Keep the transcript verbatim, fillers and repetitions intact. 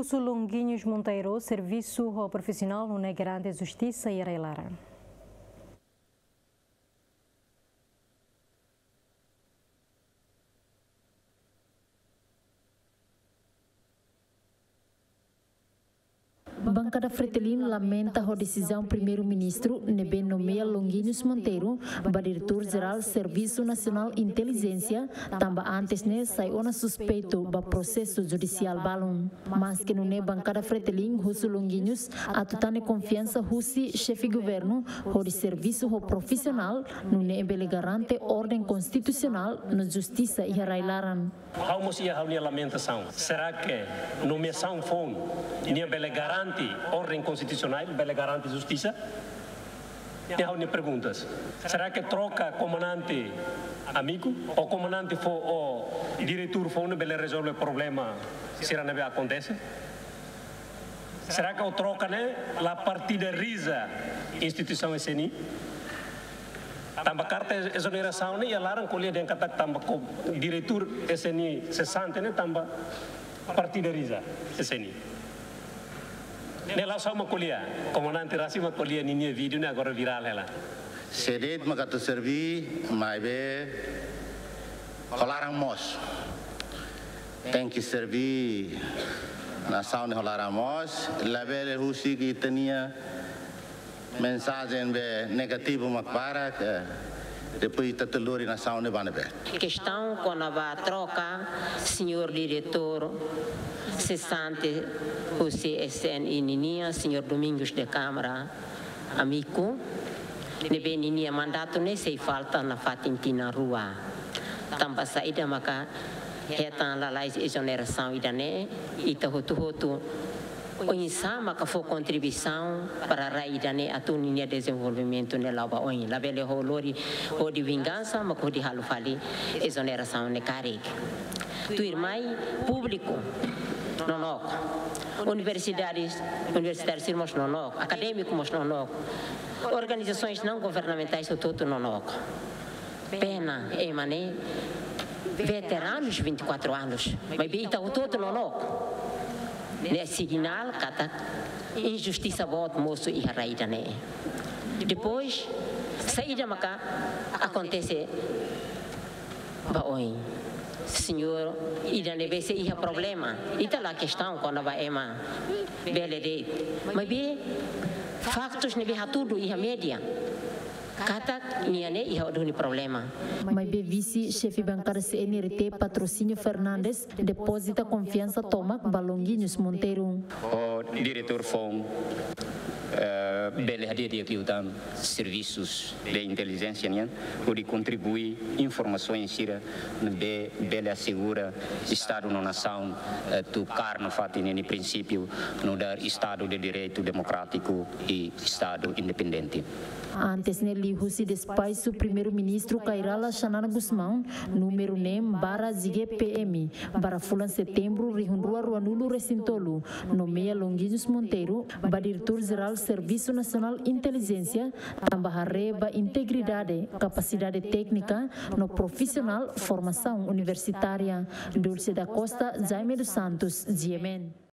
Husu Longuinhos Monteiro, servisu ho profisionál nune'e garante justisa iha rai-laran. Bankada Fretilin lamenta ho desizaun Primeiru-Ministru ne'ebé nomeia Longuinhos Monteiro ba Diretór Jerál Servisu Nasionál Intelijénsia, tanba antes ne'e sai ona suspeitu ba prosesu judisiál balun. Maske nune'e, Bankada Fretilin husu Longuinhos atu tane konfiansa husi Xefe Governu hodi servisu ho profisionál, nune'e bele garante orden konstitusionál no justisa iha rai-laran. Ha'u mós iha ha'u-nia lamentasaun. Será que nomeasaun foun nian bele garante orden konstitusionál, bele garante justisa? Ne'e ha'u-nia perguntas. Será que troka komandante Amiku, ou komandante foun, ou diretór foun ne'e bele rezolve problema sira ne'ebé akontese? Será que o troka ne'e la partidariza instituisaun S N I? Tanba karta ezonerasaun ne'e iha laran ko'alia dehan katak tanba ko diretór S N I sesante ne'e tanba partidariza S N I. Ne'e la'ós ha'u mak ko'alia, komandante rasik mak ko'alia ninia vídeo ne'e agora virál hela. Sé de'it mak atu serví, maibé ho laran moos. Tenke serví nasaun ne'e ho laran moos, labele husik ita-nia mensajen be negativu mak barak, eh, depois ita atu lori nasaun ne'e ba ne'ebé. Kestaun kona-ba troka señór diretór sesante husi S N I ninian, señór Domingos de Câmara Amiku, ne'ebé ninia mandatu ne'e sei falta nafatin tinan rua. Tanba saida maka hetan lalais ezonerasaun ida-ne'e, ita hotu-hotu oinsá maka fó kontribuisaun para rai ida-ne'e atu ninia dezenvolvimentu ne'e la'o ba oin. Labele ho lori hodi vingansa, maka hodi halo fali ezonerasaun ne'e karik. Tuirmai públiku nonook. Universidades, universitáriu sira mós nonook. Akadémiku mós nonook. Organizasoens não governamentais hotu-hotu nonook. Pena, ema ne'e veteranus vinte e quatro anos. Maibé ita hotu-hotu nonook. Ne'e sinál katak injustisa boot mosu iha rai ida-ne'e. Depois, saida maka akontese ba oin. Señór ida ne'ebé sei iha problema. Ita la kestaun kona-ba ema bele de'it. Maibé faktus ne'ebé hatudu iha média katak nia ne'e iha duni problema. Maibé vise xefe bankada C N R T Patrocínio Fernandes depozita konfiansa tomak ba Longuinhos Monteiro. Ho diretór foun, eh, bele hadi'a di'ak liután servisus de intelijénsia nian, hodi kontribui informasaun sira ne'ebé bele asegura Estadu no nasaun, eh, atu kaer nafatin ninia prinsípiu nu'udar Estadu de Direitu Demokrátiku i Estadu Independente. Antes ne'e, liuhusi despaxu Primeiru-Ministru Kay Rala Xanana Gusmão, númeru neen barra G P M, barra fulan Setembru rihun rua ruanulu resin tolu, nomeia Longuinhos Monteiro ba Diretór Jerál Servisu Nasionál Intelijénsia, tanba haree ba integridade, kapasidade téknika no profisionál, formasaun universitária. Dulce da Costa, Jaime dos Santos, G M N.